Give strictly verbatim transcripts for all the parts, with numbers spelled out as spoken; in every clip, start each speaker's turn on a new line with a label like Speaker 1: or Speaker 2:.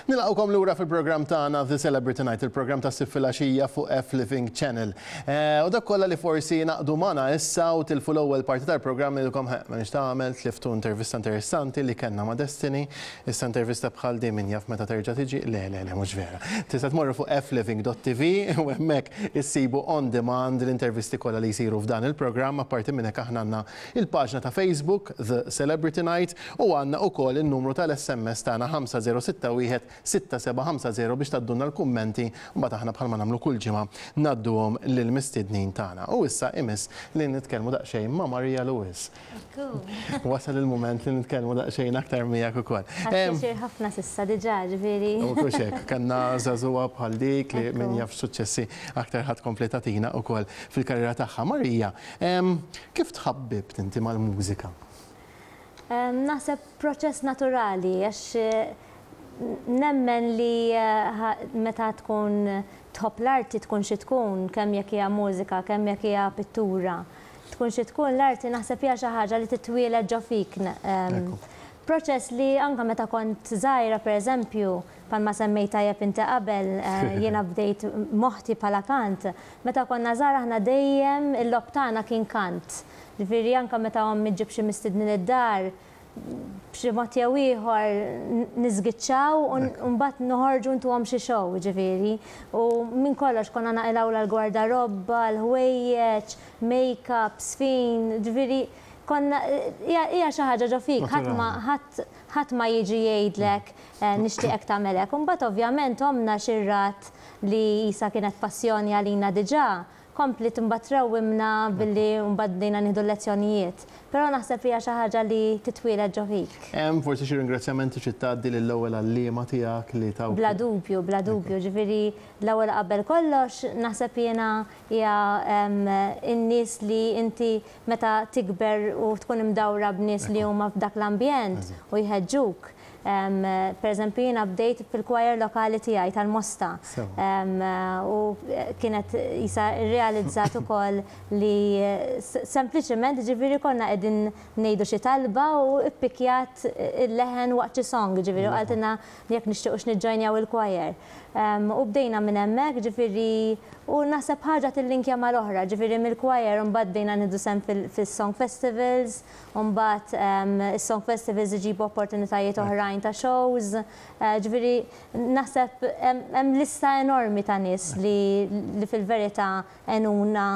Speaker 1: Nilqgħukom lura fil-programm tagħna The Celebrity Night, il-programm ta' Sibt filgħaxija fuq F Living Channel. Eh, u dak kollha li forsi ngħaqdu magħna issa u tilfu l-ewwel parti tal-programm ilkom ma nix tagħmel tliftu intervista interessanti li kellna ma' Destiny. Issa intervista bħal din min jaf meta terġa' tiġi, le le le mhux vera. Tista' tmorru fuq fliving dot T V u hemmhekk issibu on demand l-intervisti kollha li jsiru f'dan il-programm. Apparti minn hekk, aħna għandna il-paġna ta' Facebook The Celebrity Night u għandna ukoll in-numru tal-S M S tagħna ħamsa żero sitta wieħed sitta seba' ħamsa żero biex tgħaddulna l-kummenti u mbagħad aħna, bħalma nagħmlu kull ġimgħa, ngħadduhom lill-mistednin tagħna. U issa imiss li nitkellmu daqsxejn ma' Maria Lewis. Wasal il-mument li nitkellmu daqsxejn aktar miegħek ukoll.
Speaker 2: Pjaċir ħafna s'issa diġà, ġifieri.
Speaker 1: U kuxek, kellna żagħżugħa bħal dik li min jaf suċċessi aktar ħa tkompli tagħtina ukoll fil-karriera tagħha. Marija, kif tħabbibt inti mal-mużika?
Speaker 2: Naħseb proċess naturali, għax nemmen li eh, meta tkun tħobb l-arti, tkun xi tkun, kemm jekk hija mużika, kemm jekk hija pittura, tkun xi tkun l-arti, naħseb hija xi ħaġa li titwieled ġo fik. Proċess li anka meta kont żgħira, pereżempju, bħalma semmejt tajjeb inti qabel, eh, jiena bdejt moħti bħala kant, meta konna żgħar aħna dejjem il-logħob tagħna kien kant. Ġifieri anka meta ommi ġġib xi mistednin id-dar, b'xi mod jew ieħor niżgiċċaw u mbagħad noħorġu ntuhom xi show, ġifieri. U minn kollox konna naqilgħu l-gwardarobba, l-ħwejjeġ, make-up, sfin, ġifieri konna hija xi ħaġa ġo fik, ħadd ma jiġi jgħidlek eh, nixtieqek tagħmel hekk. Imbagħad ovvjament omna xi rat li jisa kienet passjoni għalina diġà, kompli imbagħad trawwimna billi mbagħad bdejna nieħdu lezzjonijiet. Però naħseb hija xi ħaġa li titwieled ġo fik.
Speaker 1: Hemm forsi xi ringrazzjamenti xi tgħaddi lill-ewwel għalliema tiegħek li taw?
Speaker 2: Bla dubju, bla dubju, ġifieri l-ewwel qabel kollox naħseb jiena hija in-nies li inti meta tikber u tkun imdawra b'nies li huma f'dak l-ambjent u jħeġġuk. Per eżempju, jiena bdejt fil-choir lokali tiegħi tal-Mosta. U kienet jisa realizzat ukoll li sempliċement, ġifieri, konna qegħdin ngħidu xi talba u ippikjat il-leħen waqt xi song, ġifieri, u qaltilna jekk nixtiequx niġġojnjaw il-choir. U bdejna minn hemmhekk, ġifieri, u naħseb ħaġa tillinkja mal-oħra, ġifieri mill-choir mbagħad bdejna nieħdu sehem fis-song festivals, u mbagħad is-song festivals iġibu opportunitajiet oħrajn ta' shows, eh, ġifieri naħseb hemm lista enormi ta' nies li fil-verità għenuna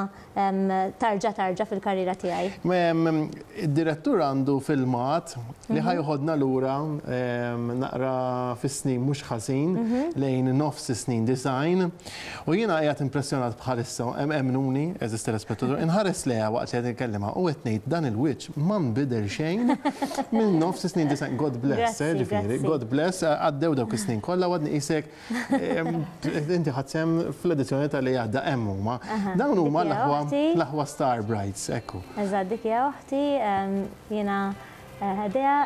Speaker 2: tarġa tarġa fil-karriera tiegħi.
Speaker 1: Id-direttur għandu filmat li ħa jeħodna lura naqra fis-snin mhux ħażin, mhm. lejn nofs snin disgħin. U jiena qiegħed impressjonat bħalissa, emmnuni, għeżież telespettaturi, inħares lejha waqt li qed inkellimha u qed ngħid dan il-wiċċ ma nbidel xejn minn nofs snin disgħin. God bless, eh, ġifieri, God bless, għaddew dawk is-snin kollha għadni qisek inti ħadt sehem fl-edizzjoni tal-li għadda. Hemm huma. Dawn huma l-aħwa Star Brights, ekku.
Speaker 2: Eżatt, dik hija oħti, jiena ħdejha.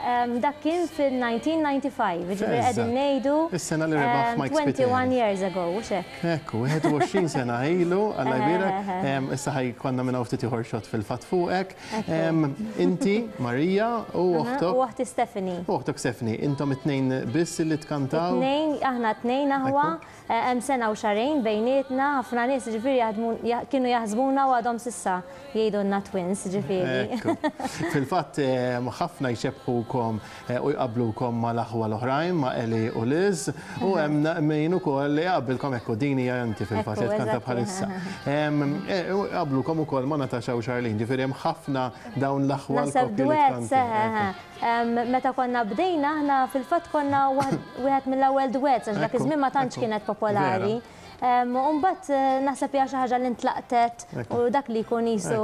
Speaker 2: Dak kien fil-elf disa' mija u disgħa u disgħin, ġifieri qegħdin ngħidu
Speaker 1: Is-sena li rebaħ Mike
Speaker 2: twenty-one years ago, u hekk.
Speaker 1: Ekku, wieħed u għoxrin sena ilu, Alla jbierek, issa ħa jkollna minn ftit ieħor shot fil-fatt fuqek. Inti, Marija, u oħtok.
Speaker 2: U oħti Stephanie.
Speaker 1: U oħtok Stephanie, intom it-tnejn biss li tkantaw?
Speaker 2: Tnejn, aħna tnejn aħwa, hemm sena u xahrejn bejnietna, ħafna nies ġifieri kienu jaħsbuna u għadhom s'issa jgħidulna twins, ġifieri.
Speaker 1: Fil-fatt ħafna jxebbhukom u jqablukom ma l-aħwa l-oħrajn, ma' Eli u Liz, u hemm min ukoll li jqabbilkom, ekku, din hija inti fil-fatt li tkanta bħalissa. Jqabblukom ukoll ma' Natasha u Charlene, ġifieri hemm ħafna dawn l-aħwa
Speaker 2: l-koppji li. Meta konna bdejna, aħna fil-fatt konna wieħed mill-ewwel duets, għax dak iż-żmien ma tantx kienet popolari. Umbagħad eh, naħseb hija xi ħaġa li ntlaqtet u dak li jkun jisu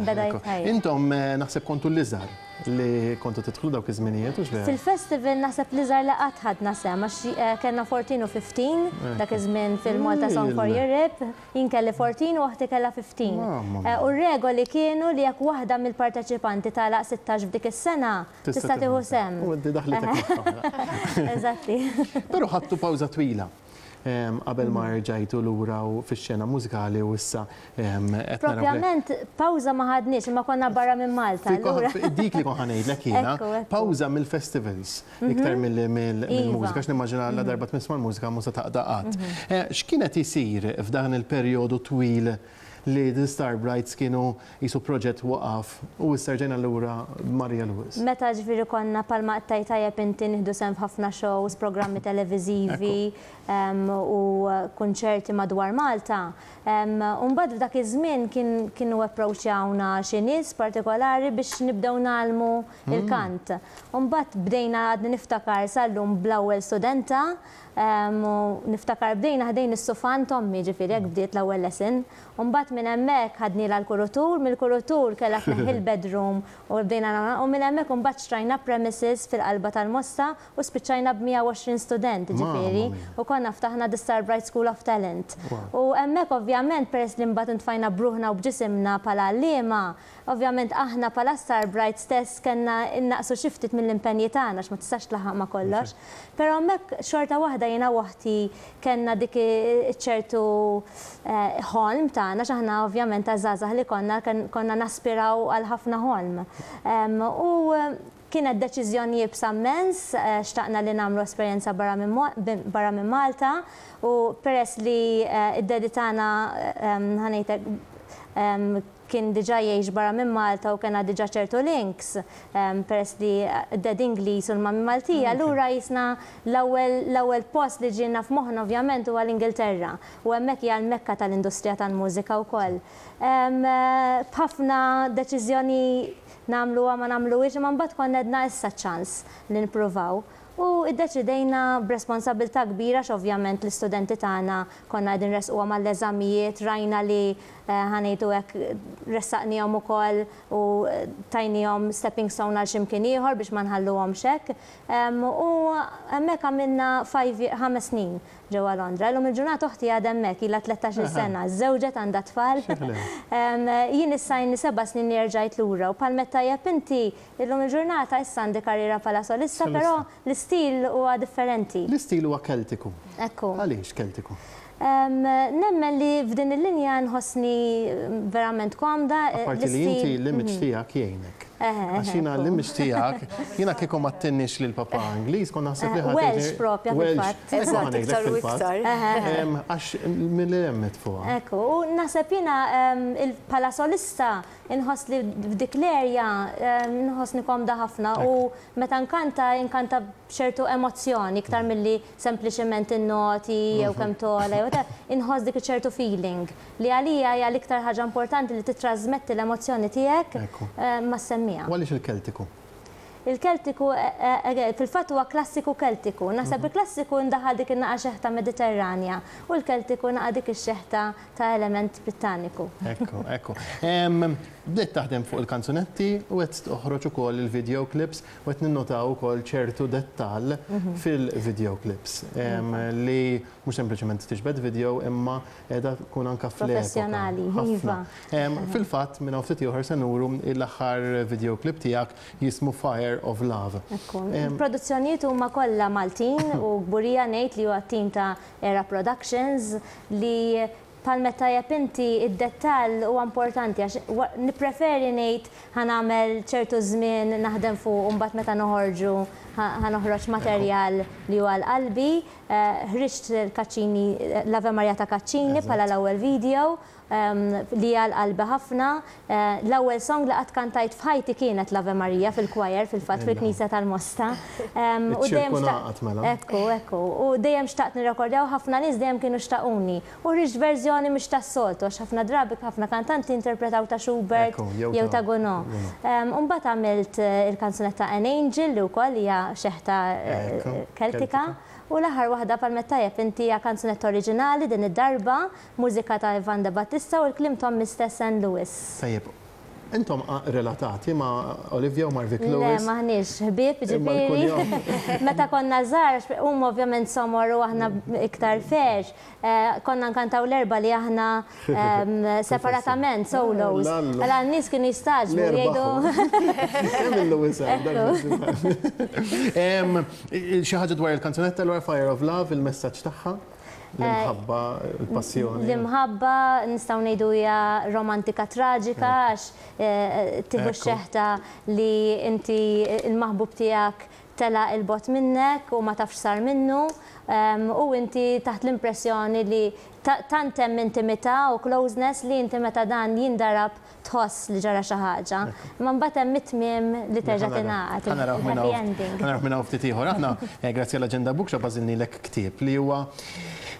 Speaker 2: beda jitħajjar.
Speaker 1: Intom eh, naħseb kontu l-iżgħar li kontu tidħlu dawk iż-żminijiet, u
Speaker 2: x'vera? Fil-festival naħseb l-iżgħar li qatt ħadna sehem, għax eh, kellna erbatax u ħmistax dak iż-żmien fil-Malta Song for Europe, jien kelli erbatax u oħti kellha ħmistax. U r-regoli kienu li jekk waħda mill-parteċipanti tagħlaq sittax f'dik is-sena, tista' tieħu sehem.
Speaker 1: U inti daħlitek.
Speaker 2: Eżatti.
Speaker 1: Però ħadtu pawża twila. qabel ma rġajtu lura u fix-xena mużikali u issa qed naraw.
Speaker 2: Propjament pawża ma ħadniex, imma konna barra minn Malta. Allura.
Speaker 1: Dik li kont ħa ngħidlek jiena, pawża mill-festivals iktar mill-mużika, għax nimmaġina la darba tmiss mal-mużika mhux se taqta' qatt. X'kienet isir f'dan il-perjodu twil li The Star Brights kienu jisu proġett waqaf u issa rġajna lura Maria Lewis?
Speaker 2: Meta ġifieri konna palma qtajt tajjeb inti nieħdu sehem f'ħafna shows, programmi televiżivi u kunċerti madwar Malta. U mbagħad f'dak iż-żmien kienu approachjawna xi nies partikolari biex nibdew nagħlmu il-kant. U mbagħad bdejna, għadni niftakar sal-lum bl-ewwel studenta, u niftakar bdejna ħdejn is-sufan t'ommi, ġifieri hekk bdiet l-ewwel lesson. U mbagħad minn hemmhekk ħadni l-kurutur, mill-kurutur kellha tneħħi l-bedroom u bdejna, u minn hemmhekk imbagħad xtrajna premises fil-qalba tal-Mosta u spiċċajna b'mija u għoxrin student, ġifieri, u konna ftaħna The Star Bright School of Talent. U hemmhekk ovvjament peress li mbagħad intfajna bruħna u b'ġisimna bħala għalliema, ovvjament aħna bħala Star Bright stess kellna innaqsu xi ftit mill-impenji tagħna għax ma tistax tlaħħaq ma' kollox. Però hemmhekk xorta waħda jiena waħdi kellna dik ċertu ħolm tagħna, x'aħna ovvjament għażażagħ li konna konna naspiraw għal ħafna ħolm. U kienet deċiżjoni iebsa immens, xtaqna li nagħmlu esperjenza barra minn Malta, u peress li id-daddy tagħna ħa ngħidlek kien diġà jgħix barra minn Malta u kena diġà ċertu links, peress li d-daddy Ingliż u l-mami Maltija, allura jisna l-ewwel post li ġiena f'moħħna ovvjament huwa l-Ingilterra, u hemmhekk hija l-mekka tal-industrija tal-mużika wkoll. B'ħafna deċiżjoni nagħmluha ma nagħmluhiex, imma mbagħad konna għedna issa ċans li nippruvaw. U iddeċidejna b'responsabilità kbira x'ovvjament l-istudenti tagħna konna qegħdin resquhom għall-eżamijiet, rajna li ħa ngħidu hekk ressaqnihom ukoll u tajnihom stepping stone għal x'imkien ieħor biex ma nħalluhomx hekk. U hemmhekk għamilna ħames snin ġewwa Londra. Illum il-ġurnata oħti għadha hemmhekk, ilha tlettax-il sena, żewġet, għandha tfal. Jien issa jien seba' snin li rġajt lura u bħal meta tajjeb inti illum il-ġurnata issa għandi karriera bħala solista, però l-istil huwa differenti.
Speaker 1: L-istil huwa Keltiku.
Speaker 2: Ekku.
Speaker 1: Għaliex Keltiku?
Speaker 2: Nemmen li f'din il-linja nħossni verament komda.
Speaker 1: Apparti li inti l-image tiegħek jgħinek. Għax jiena l-image tiegħek, jiena kieku ma ttinnix lil papa Ingliż, kont naħseb li ħadd.
Speaker 2: Welsh propja fil-fatt.
Speaker 3: Eżatt, iktar u iktar.
Speaker 1: Għax milli hemmet fuqha.
Speaker 2: Ekku, u naħseb jiena bħala solista inħoss li f'dik l-erja nħossni komda ħafna u meta nkanta nkanta b'ċertu emozzjoni iktar milli sempliċement in-noti jew kemm togħla jew inħoss dik ċertu feeling li għalija hija l-iktar ħaġa importanti li titrasmetti l-emozzjoni tiegħek ma' semmija.
Speaker 1: U għaliex il-Keltiku?
Speaker 2: Il-Keltiku fil-fatt huwa klassiku Keltiku. Naħseb il-klassiku ndaħal dik in-naqa xeħta Mediterranja u l-Keltiku naqa dik ix-xeħta ta' element Brittaniku.
Speaker 1: Ekku, ekku. Bdejt taħdem fuq il-kanzunetti u qed toħroġ ukoll il-video clips u qed ninnotaw ukoll ċertu dettall fil-video clips li mhux sempliċement tiġbed video imma qiegħda tkun anke fl-epoka.
Speaker 2: Professjonali, iva.
Speaker 1: Fil-fatt minn hawn ftit ieħor se nuru l-aħħar video clip tiegħek jismu Fire of Love.
Speaker 2: Il-produzzjonijiet huma kollha Maltin u kburija ngħid li huwa tim ta' Era Productions li bħal meta tajjeb inti id-dettall huwa importanti għax nippreferi ngħid ħa nagħmel ċertu żmien naħdem fuq u mbagħad meta noħorġu ħa noħroġ materjal li huwa għal qalbi. Ħriġt il-Caccini, l-Ave Maria ta' Caccini bħala l-ewwel video li għal qalbi ħafna. L-ewwel song li qatt kantajt f'ħajti kienet l-Ave Maria fil-choir fil-fatt fil-Knisja tal-Mosta. U dejjem Ekku, ekku. U dejjem xtaqt nirrekordjaw, ħafna nies dejjem kienu xtaquni. U ħriġt verżjoni mhux tas-soltu għax ħafna drabi ħafna kantanti interpretaw ta' Schubert jew ta' Gounod. U mbagħad għamilt il-kanzunetta An Angel li wkoll hija xeħta Keltika. U l-aħħar waħda bħal meta tajjeb inti hija kanzunetta oriġinali din id-darba, mużika ta' Ivan De Battista u l-kliem t'ommi stess Ann Lewis.
Speaker 1: Tajjeb, intom relatati ma' Olivia u Marvic Lewis?
Speaker 2: Le, maħniex ħbieb, ġifieri. Meta konna żgħar, huma ovvjament somor u aħna iktar ferx, konna nkantaw l-erba li aħna separatament, solos. Għala n-nies kienu jistagħġbu jgħidu.
Speaker 1: Kemm il-Lewis hemm? Xi ħaġa dwar il-kanzunetta l Fire of Love, il-messaġġ tagħha? L-imħabba, il-passjoni.
Speaker 2: L-imħabba nistgħu ngħidu hija romantika traġika għax tieħu x-xeħta li inti il-maħbub tiegħek tela il-bot minnek u ma tafx sar minnu u inti taħt l-impressjoni li tant hemm intimità u closeness li inti meta dan jindarab tħoss li ġara xi ħaġa. Imma mbagħad hemm it-tmiem li terġa' tingħaqad. Happy ending.
Speaker 1: Ħa naraw minn hawn ftit ieħor. Aħna grazzi għall-Agenda Bookshop għażilnilek ktieb li huwa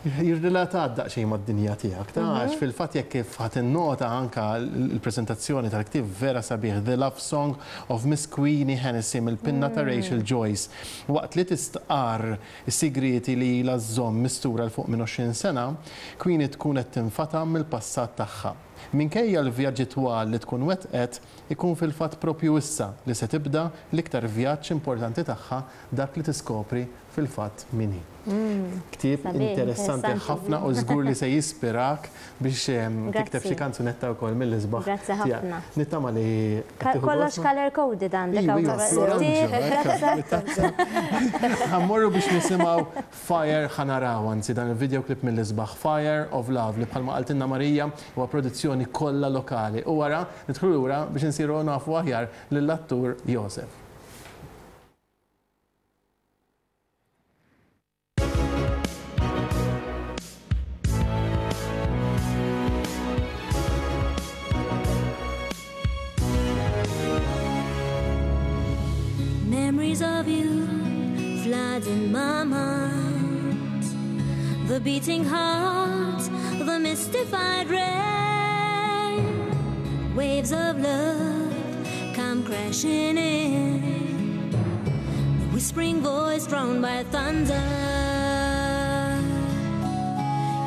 Speaker 1: jirrelata daqsxejn mad-dinja tiegħek. Għax fil-fatt jekk kif ħadd innota anka l-preżentazzjoni tal-ktieb vera sabiħ, The Love Song of Miss Queenie Hennessy mill-pinna ta' Rachel Joyce. Waqt li tistqar is-sigrieti li ilha żżomm mistura 'l fuq minn għoxrin sena, Queenie tkun qed tinfatam mill-passat tagħha. Minkejja l-vjaġġi twal li tkun wettqet, ikun fil-fatt propju issa li se tibda l-iktar vjaġġ importanti tagħha, dak li tiskopri fil-fatt min hi. Ktieb interessanti ħafna u żgur li se jispirak biex tikteb xi kanzunetta wkoll mill-isbaħ.
Speaker 2: Grazzi ħafna.
Speaker 1: Nittama li
Speaker 2: kollox color coded għandek.
Speaker 1: Ħa mmorru biex nisimgħu Fire, ħa naraw anzi dan il-videoclip mill-isbaħ Fire of Love li bħalma qaltilna Marija huwa produzzjoni kollha lokali. U wara nidħlu lura biex insiru nafu aħjar lill-attur Josef.
Speaker 3: Memories of you flood in my mind, the beating heart, the mystified rain, waves of love come crashing in, the whispering voice drowned by thunder.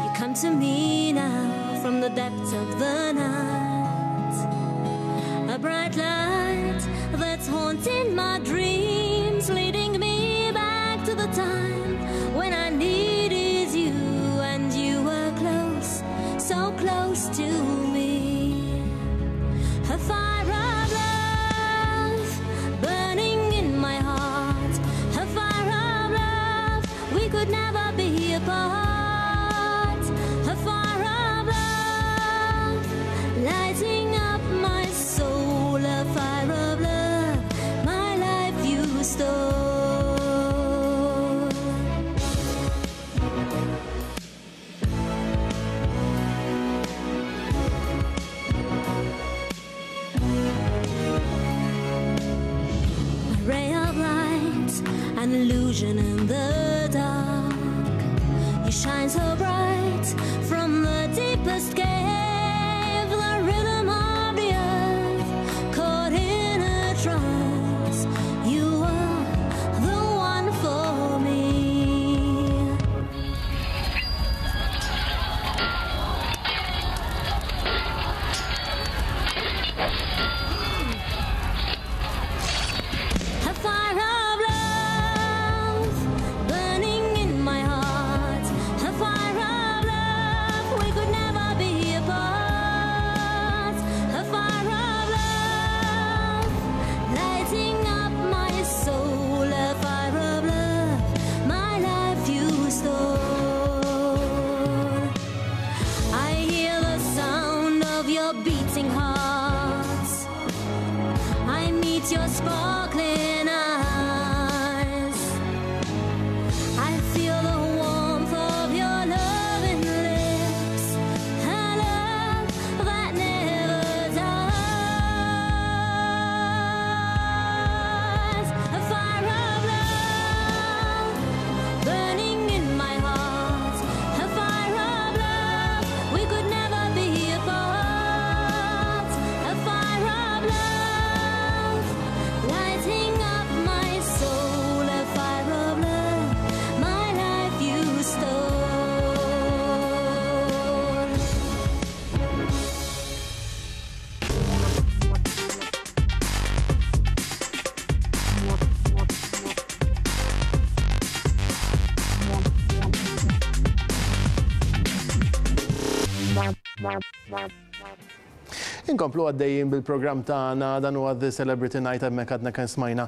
Speaker 3: You come to me now from the depths of the night, a bright light that's haunting my dreams, leading me back to the time when I needed you and you were close, so close to me. A fire of love burning in my heart, a fire of love, we could never be apart. A fire of love lighting up my soul, a fire of love, my life you stole. A ray of light, an illusion in the dark. You shine so bright from the deepest cave, the rhythm of the earth caught in a trance. You are the one for me. A fire of love burning in my heart, a fire of love, we could never be apart. A fire of love lighting up my soul, a fire of love, my life you stole. I hear the sound of your beating heart, I meet your sparkling eyes, I feel the warmth of your loving lips, a love that never dies. A fire of love burning in my heart, a fire of love, we could never be apart. A fire of love lighting up my soul, a fire of love, my life you stole.
Speaker 1: Inkomplu għaddejjin bil-programm tagħna, dan huwa The Celebrity Night, hemmhekk għadna kemm smajna